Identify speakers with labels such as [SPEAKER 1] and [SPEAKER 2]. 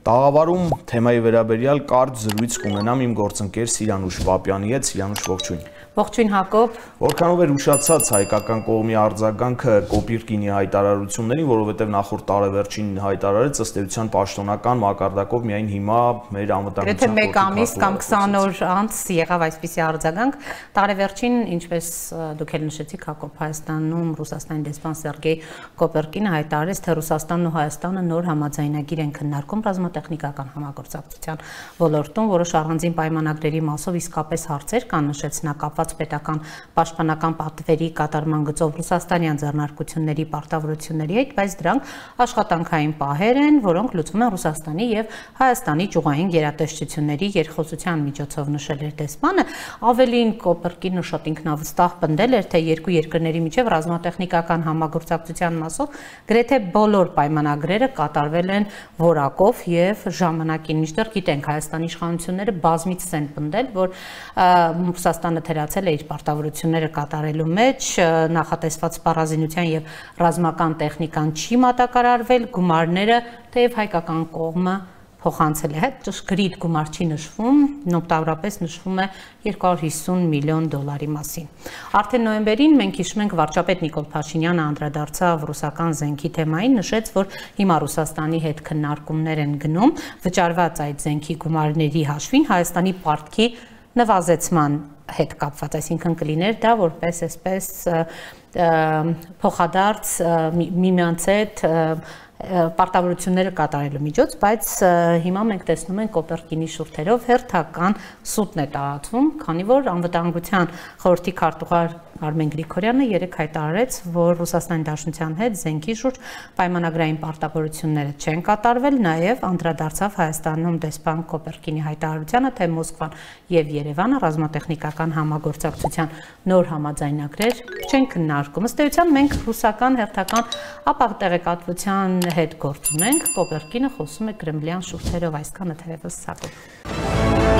[SPEAKER 1] Տաղավարում թեմայի վերաբերյալ կարճ զրույց կունենամ իմ գործընկեր Սիրանուշ Պապյանի հետ։ Սիրանուշ, ողջույն։
[SPEAKER 2] Ողջույն Հակոբ։
[SPEAKER 1] Որքանով էր ուշացած հայկական կողմի արձագանքը Կոպիրկինի հայտարարություններին, որովհետև նախորդ տարեվերջին հայտարարեց ըստ էության պաշտոնական մակարդակով միայն հիմա մեր անվտանգության
[SPEAKER 2] Գրեթե 1 ամիս կամ 20 օր անց եղավ այսպիսի արձագանք։ Տարեվերջին, ինչպես դուք էլ նշեցիք, Հակոբ, Հայաստանում Ռուսաստանի դեսպան Սերգեյ Կոպերկինը հայտարարեց, թե Ռուսաստանն ու Հայաստանը նոր համաձայնագիր են քննարկում ռազմատեխնիկական համագործակցության ոլորտում, որոշ առանձին պայմանագրերի մասով իսկապես հարցեր կան, նշեց նա, կապված պետական պաշտպանական պատվերի կատարման գծով ռուսաստանյան ձեռնարկությունների պարտավորությունների հետ, բայց դրանք աշխատանքային պահեր են, որոնք լուծվում են Ռուսաստանի եւ Հայաստանի ճյուղային գերատեսչությունների երկխոսության միջոցով, նշել էր դեսպանը։ Ավելին, Կոպերկինը շատ ինքնավստահ պնդել էր, թե երկու երկրների միջև ռազմատեխնիկական համագործակցության մասով գրեթե բոլոր պայմանագրերը կատարվել են որակով եւ ժամանակին, մինչդեռ գիտենք Հայաստանի իշխանությունները բազմիցս են պնդել, որ Ռուսաստանը թերացել է իր պարտավորությունները կատարելու մեջ, նախատեսված սպառազինության եւ ռազմական տեխնիկան չի մատակարարվել, գումարները թեև հայկական կողմը փոխանցել է, հետ ճշգրիտ գումար չի նշվում, նոմտավորապես նշվում է 250 միլիոն դոլարի մասին։ Արդեն նոյեմբերին մենք հիշում ենք վարչապետ Նիկոլ Փաշինյանը անդրադարձավ ռուսական զենքի թեմային, նշեց, որ հիմա Ռուսաստանի հետ քննարկումներ են գնում, վճարված այդ զենքի գումարների հաշվին Հայաստանի պարտքի նվազեցման հետ կապված, այսինքն կլիներ դա որպես այսպես փոխադարձ միմյանց հետ պարտավորությունները կատարելու միջոց, բայց հիմա մենք տեսնում ենք Կոպերկինի շուրթերով հերթական սուտն է տարածվում, քանի որ անվտանգության խորհրդի քարտուղար Արմեն Գրիգորյանը երեկ հայտարարեց, որ Ռուսաստանի Դաշնության հետ զենքի շուրջ պայմանագրային պարտավորությունները չեն կատարվել, նաև անդրադարձավ Հայաստանում դեսպան Կոպերկինի հայտարարությանը, թե Մոսկվան եւ Երևանը ռազմատեխնիկական համագործակցության նոր համաձայնագրեր չեն քննարկում։ Ըստ էության մենք ռուսական հերթական ապատեղեկատվության հետ գործ ունենք, Կոպերկինը խոսում է կրեմլյան շուրթերով, այսքանը թերևս Հակոբ։